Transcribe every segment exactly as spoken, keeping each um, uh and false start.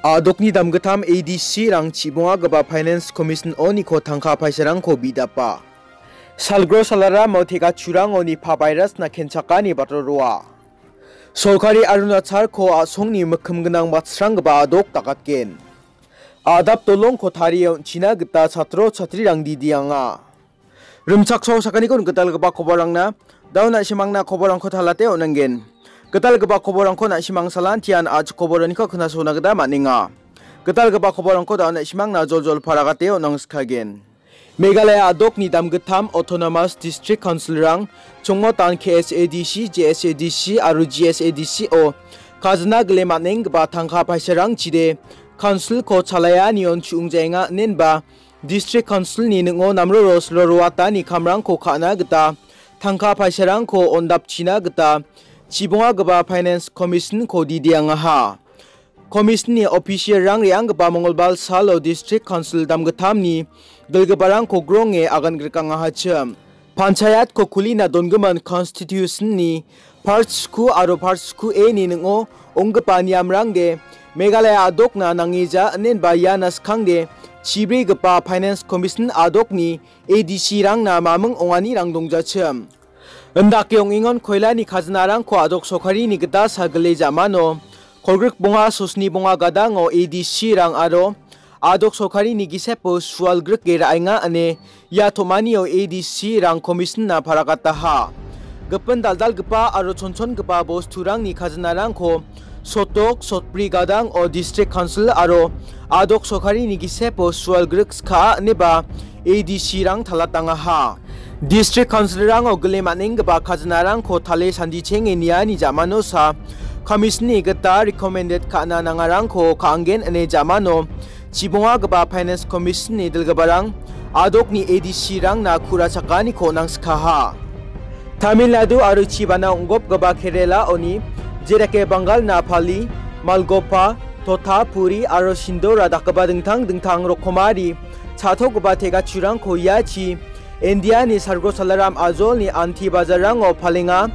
A dokni damgittam A D C-rang chibongagipa Finance Commission-oniko tangka paisarangko bidapa. Salgro salaramo tekachurango Nipah virus-na kenchakani batroroa. Sorkari Arunachalko a·songni mikkim gnang batsranggipa a dok dakatgen. A·dap dolongko tarie on·china gita chatro chatrirang didianga. Rimchaksoa sakaniko gitalgipa koborangna, da·o na·simangna koborangko talate on·angen. Gitalgipa koborangko na·simang salantian a·chik koboraniko knasona gita man·enga. Gitalgipa koborangko da·o na·simangna joljol paragate on·angskagen. Meghalaya a dokni damgittam Autonomous District Council-rang chongotan K S A D C, J S A D C aro G S A D C-o kajina gile man·enggipa tangka paisarangchide Council-ko chalaianion chu·ong jaenga inenba District Council-ni ning·o namroro siloroatani kamrangko ka·na gita tangka paisarangko on·dapchina gita chibongagipa Finance Commission-ko didiangaha. Commission-ni official-rang re·anggipa Mongolbar salo District Council damgittamni dilgiparangko gronge agan grikangahachim. Panchayat-ko kulina dongimin Constitution-ni Part sku aro Part sku A-ni ning·o onggipa niamrangde Meghalaya a dokna nangija inenba iana skangde chibrigipa Finance Commission a dokni A D C-rangna maming onganirang dongjachim. Indake ong·engon koilani kajinarangko a dok sorkarini gita sagile ja·mano kolgrik bonga sosni bonga gadango A D C-rang aro a dok sorkarini gisepo sual grike ra·enga ine ia tom·anio A D C-rang Commission-na paragataha. Gipin dal·dalgipa aro chonchongipa bosturangni kajinarangko sotok, sotbri gadang o District Council aro a dok sorkarini gisepo sual grik skaa ineba A D C-rang talatangaha. District Council-rango gile man·enggipa kajinarangko tale sandichenge niani ja·manosa Commission-ni gita recommended ka·na nangarangko ka·angen ine ja·mano chibongagipa Finance Commission-ni dilgiparang a dokni A D C-rangna ku·ra chakaniko nangskaha. Tamil Nadu aro chibana ong·gopgipa Kerala-oni, jedake Bangalna Pali, Malgopa, Thotapuri aro Sindora dakgipa dingtang dingtang rokomari cha·tokgipa tegachurangko iachi India-ni salgro salaram ajolni anti bajarrango palenga.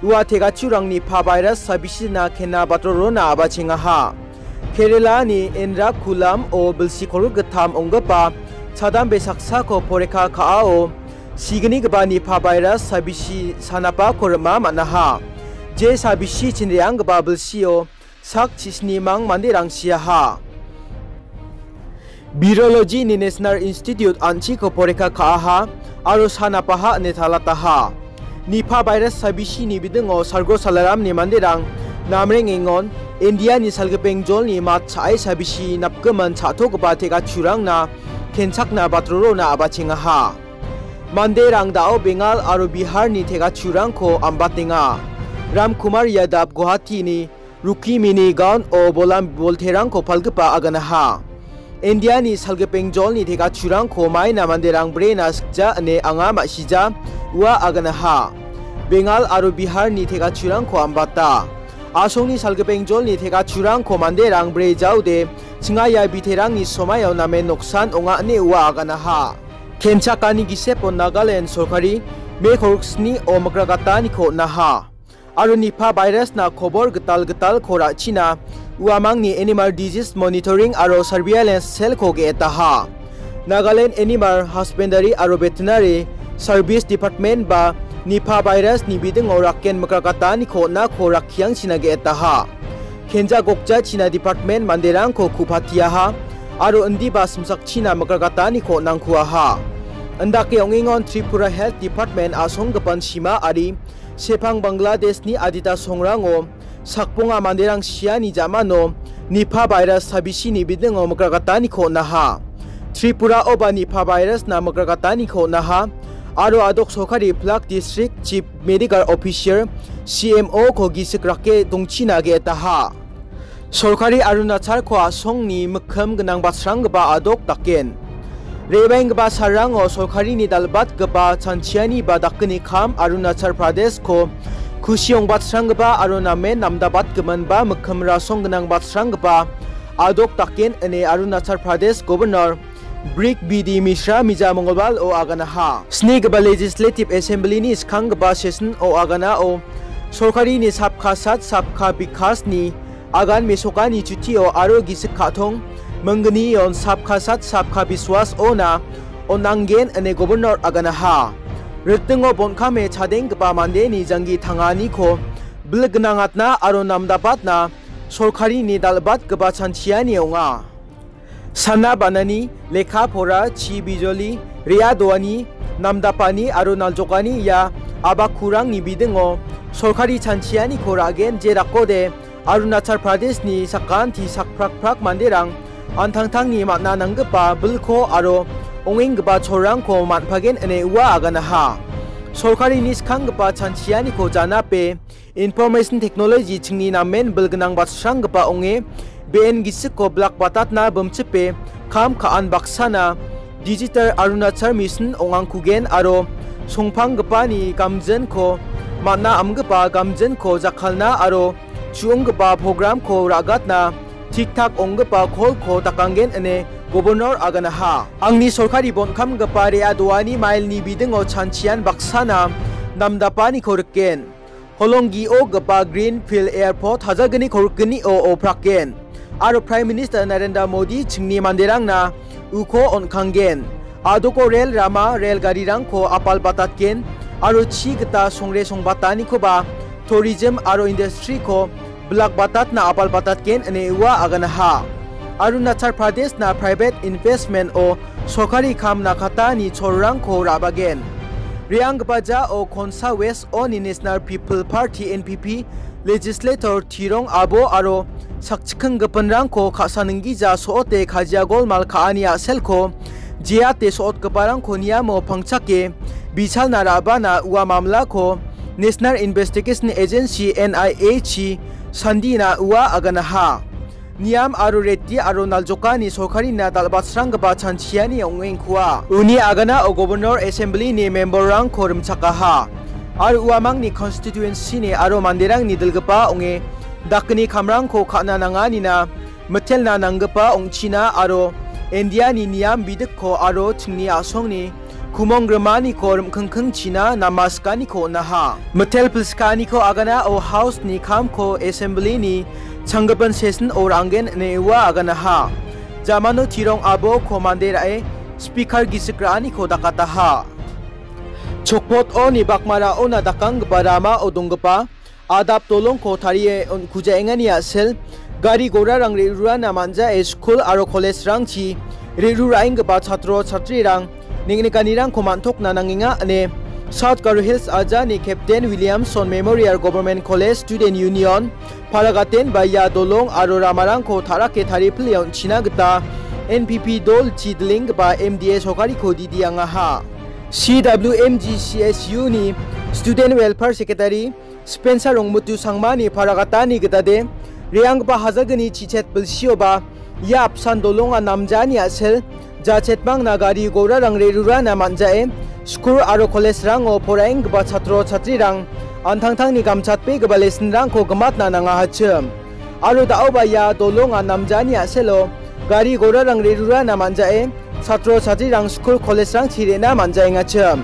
Ua tegachurangni pa virus sabisina kena batrorona abachengaha. Kerala-ni Ernakulam-o bilsi kolgrik gittam ong·gipa chadambe saksako porikka ka·ao signigipa Nipah virus sabisi sanapako rima man·aha. Je sabisi chinreanggipa bilsio sak chisnimang manderang siaha. Virology-ni National Institute an·chiko porikka ka·aha aro sanapaha ine talataha. Nipah virus sabisini bidingo salgro salaramni manderang namrengengon India-ni salgipeng jolni mat cha·e sabisi napgimin cha·togipa tegachurangna kenchakna batrorona abachengaha. Manderang da·o Bengal aro Biharni tegachurangko ambatenga. Ramkumar Yadav Guwahati-ni Rukmini Gaon-o bolam bolterangko palgipa aganaha. India-ni salgipeng jolni tegachurangko maina manderang brena sikja ine anga ma·sija ua aganaha. Bengal aro Biharni tegachurangko ambata. Asongni salgipeng jolni tegachurangko manderang bre jaode chingaia biterangni somaio namen noksan ong·a ine ua aganaha. Kenchakani gisepo Nagaland sorkari Me kolgriksni-o mikragataniko on·aha. Aro Nipah virus-na kobor gital gitalko ra·china uamangni Animal Disease Monitoring aro Surveillance Cell-ko ge·etaha. Nagaland Animal Husbandry aro Veterinary Service Department ba Nipah virus-ni bidingo rakken mikragataniko on·ako rakkiangchina ge·etaha. Kenja gokjachina department manderangko ku·patiaha aro indiba simsakchina mikragataniko on·angkuaha. Indake ong·engon Tripura Health Department a·songgipan Sima ari Sepang Bangladeshni adita songrango sakbonga manderang siani ja·mano Nipah virus sabisini bidingo mikragataniko on·aha. Tripura-oba Nipah virus-na mikragataniko on·aha aro a·dok sorkari Plak District Chief Medical Officer, C M O-ko gisik rake dongchina ge·etaha. Sorkari Arunachalko a·songni mikkim gnang batsranggipa a·dok daken. Re·baenggipa salrango sorkarini dal·batgipa chanchiani ba dakgni kam Arunachal Pradesh-ko kusi ong·batsranggipa aro namen namdabatgimin ba mikkim rasong gnang batsranggipa a·dok daken ine Arunachal Pradesh Governor Brig B D Mishra mija Mongolbalo aganaha. Snigipa Legislative Assembly-ni skanggipa session-o aganao sorkarini Sabka Saath Sabka Vikas-ni Agan mesokani chutio aro gisik ka·tong minggnion sabka sat sabka biswas ona on·anggen ine Governor aganaha. Ritingo bon·kame chadenggipa mandeni janggi tanganiko bil gnangatna aro namdapatna sorkarini dal·batgipa chanchiani ong·a. Sana banani, lekka pora, chi bijoli, re·a doani, namdapani aro naljokani ia abakurangni bidingo sorkari chanchianiko ra·gen je dakode Arunachal Pradeshni sakanti sakprakprak manderang an·tangtangni man·a nanggipa bilko aro ong·enggipa cholrangko man·pagen ine ua aganaha. Sorkarini skanggipa chanchianiko janape Information Technology chingni namen bilgnang batsranggipa ong·e, be·en gisiko bilak batatna bimchipe kam ka·an baksana Digital Arunachal Mission ong·angkugen aro songpanggipani gamjinko man·a amgipa gamjinko jakkalna aro chu·onggipa programko ra·gatna tik-tak ong·gipa kolko dakanggen ine Governor aganaha. Angni sorkari bon·kamgipa re·a doani mailni bidingo chanchian baksana namdapaniko rikgen. Holonggio gipa Greenfield Airport hajalgni kolgni o oprakgen. Aro Prime Minister Narendra Modi chingni manderangna uko on·kanggen. Adoko rel rama, rel garirangko apal batatgen aro chi gita songre songbatanikoba tourism aro industry-ko bilak batatna apal batatgen ine ua aganaha. Arunachal Pradeshna private investment-o sorkari kam nakatani cholrangko ra·bagen. Re·anggipa jao Khonsa West oni National People Party, N P P, legislator Tirong Abo aro sakchikinggipinrangko ka·saninggija so·ote kajia golmal ka·ani a·selko jeate so·otgiparangko niamo pangchake bichalna ra·bana ua mamlako National Investigation Agency, N I A-chi sandina ua aganaha. Niam aro reti aro naljokani sorkarina dal·batsranggipa chanchiani ong·engkua. Uni aganao Governor Assembly-ni member-rangko rimchakaha. Aro uamangni constituency-ni aro manderangni dilgipa ong·e dakni kamrangko ka·na nanganina mitelna nanggipa ong·china aro India-ni niam bidikko aro chingni a·songni kumong grimaniko rim·kingkingchina namaskaniko on·aha. Mitel pilskaniko aganao House-ni kamko Assembly-ni changgipin session-o ra·anggen ine ua aganaha. Jamano Tirong Aboko mande ra·e Speaker gisik ra·aniko dakataha. Chokpot-oni bakmaraona dakanggipa ramao donggipa adap dolongko tarie on-, kujaengani a·sel, gari gorarang re·rurana man·jae skul aro college-rangchi re·ru ra·enggipa chatro chatrirang neng·nikanirangko man·tokna nangenga ine South Garo Hills ajani Captain Williamson Memorial Government College Student Union, Paragaten ba ia dolong aro ramarangko ta·rake taripile on·china gita N P P dolchi dilenggipa M D A sorkariko didiangaha. C W M G C S U-ni Student Welfare Secretary Spencer Rongmutu Sangmani paragatani gitade, re·anggipa hajalgni chichet bilsioba ia apsan dolonga namjani a·sel jachetmangna gari gorarang re·rurana man·jae, skul aro college-rango poraenggipa chatro chatrirang an·tangtangni gamchatbegipa lesson-rangko gimatna nangahachim. Aro da·oba ia dolonga namjani a·selo gari gorarang re·rurana man·jae, chatro chatrirang skul college-rangchi re·na man·jaengachim.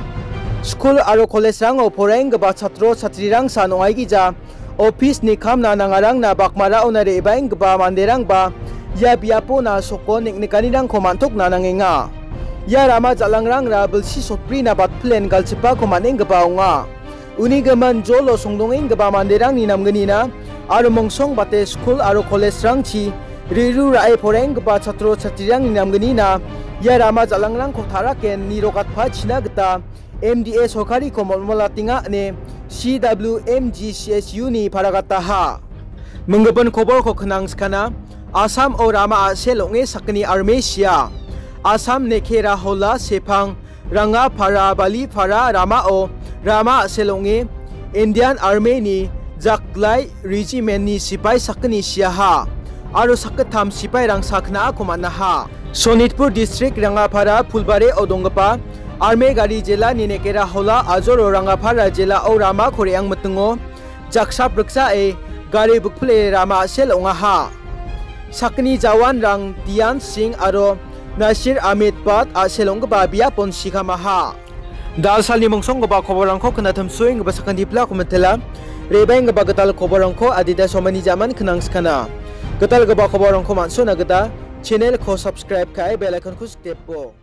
Skul aro college-rango poraenggipa chatro chatrirangsan ong·aigija, office-ni kamna nangarangna bakmaraona re·baenggipa manderangba ia biapona sokon neng·nikanirangko man·tokna nangenga. Ia rama jal·angrangra bilsi sotbrina batpilen galchipako man·enggipa ong·a. Uni gimin jolo songdongenggipa manderangni namgnina aro mongsongbate skul aro college-rangchi re·ru ra·e poraenggipa chatro chatrirangni namgnina ia rama jal·angrangko ta·raken nirokatpachina gita M D A sorkariko molmolatenga ine C W M G C S U-ni paragataha. Minggipin koborko knangskana, Assam-o rama a·sel ong·e sakgni arme sia. Assam-ni Khera Hola, Sepang, Rangapara, Balipara ramao rama a·sel ong·e Indian Army-ni Jaklai Regiment-ni sipai sakgni siaha aro sakgittam sipairang sakgnako man·aha. Sonitpur District, Rangapara Phulbari-o donggipa Army gari jelani Nekera Hola ajoro Rangapara jelao ramako re·angmitingo jaksapriksae gari bikpile rama a·sel ong·aha. Sakgni jawanrang Dian Singh aro Nasir Ahmed Bhatt a·sel ong·gipa biapon sikamaha. Dalsalni mongsonggipa koborrangko knatimsoenggipa sakantiplako mitela. Rebenggipa gital koborrangko adita somani jaman knangskana. Gitalgipa koborrangko man·sona gita channel-ko subscribe ka·e bell icon-ko sikdepo.